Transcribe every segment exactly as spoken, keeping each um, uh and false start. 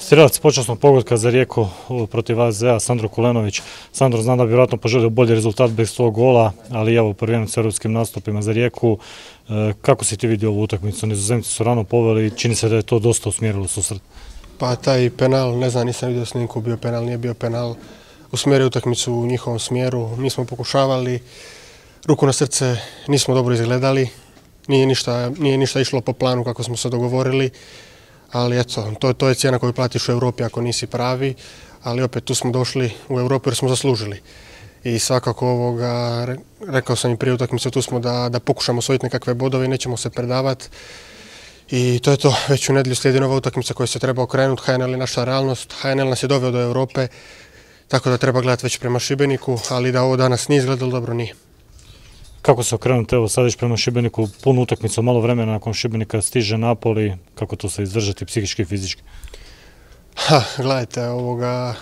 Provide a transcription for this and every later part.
Strijelac počasnog pogotka za Rijeku protiv A Z A, Sandro Kulenović. Sandro, znam da bi vjerojatno poželio bolji rezultat bez svog gola, ali evo prvenec s europskim nastupima za Rijeku. Kako si ti vidio ovu utakmicu? Nizozemci su rano poveli i čini se da je to dosta usmjerilo susret. Pa taj penal, ne znam, nisam vidio snimku, bio penal, nije bio penal. Usmjerio utakmicu u njihovom smjeru, mi smo pokušavali, ruku na srce nismo dobro izgledali, nije ništa, nije ništa išlo po planu kako smo se dogovorili. Ali eto, to, to je cijena koju platiš u Europi ako nisi pravi, ali opet tu smo došli u Europu jer smo zaslužili. I svakako ovoga, rekao sam i prije utakmice, tu smo da, da pokušamo osvojiti nekakve bodove i nećemo se predavati. I to je to, već u nedjelju slijedi nova utakmica koja se treba okrenuti, H N L je naša realnost, H N L nas je doveo do Europe, tako da treba gledati već prema Šibeniku, ali da ovo danas nije izgledalo dobro, nije. Kako se okrenuti, evo sad već prema Šibeniku, punu utakmicu, malo vremena nakon Šibenika stiže Napoli, kako to se izdržati psihički i fizički? Ha, gledajte, ovoga,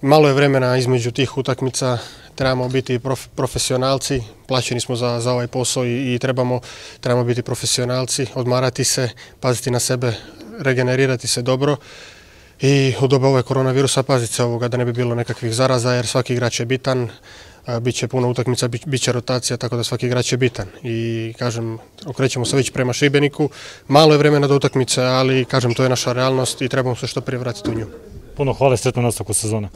malo je vremena između tih utakmica, trebamo biti prof, profesionalci, plaćeni smo za, za ovaj posao i, i trebamo, trebamo biti profesionalci, odmarati se, paziti na sebe, regenerirati se dobro i u doba ove koronavirusa paziti se ovoga da ne bi bilo nekakvih zaraza jer svaki igrač je bitan. Biće puno utakmica, biće rotacija, tako da svaki igrač je bitan. I kažem, okrećemo se već prema Šibeniku. Malo je vremena do utakmice, ali kažem, to je naša realnost i trebamo se što prije vratiti u nju. Puno hvala i sretno nastavku sezone.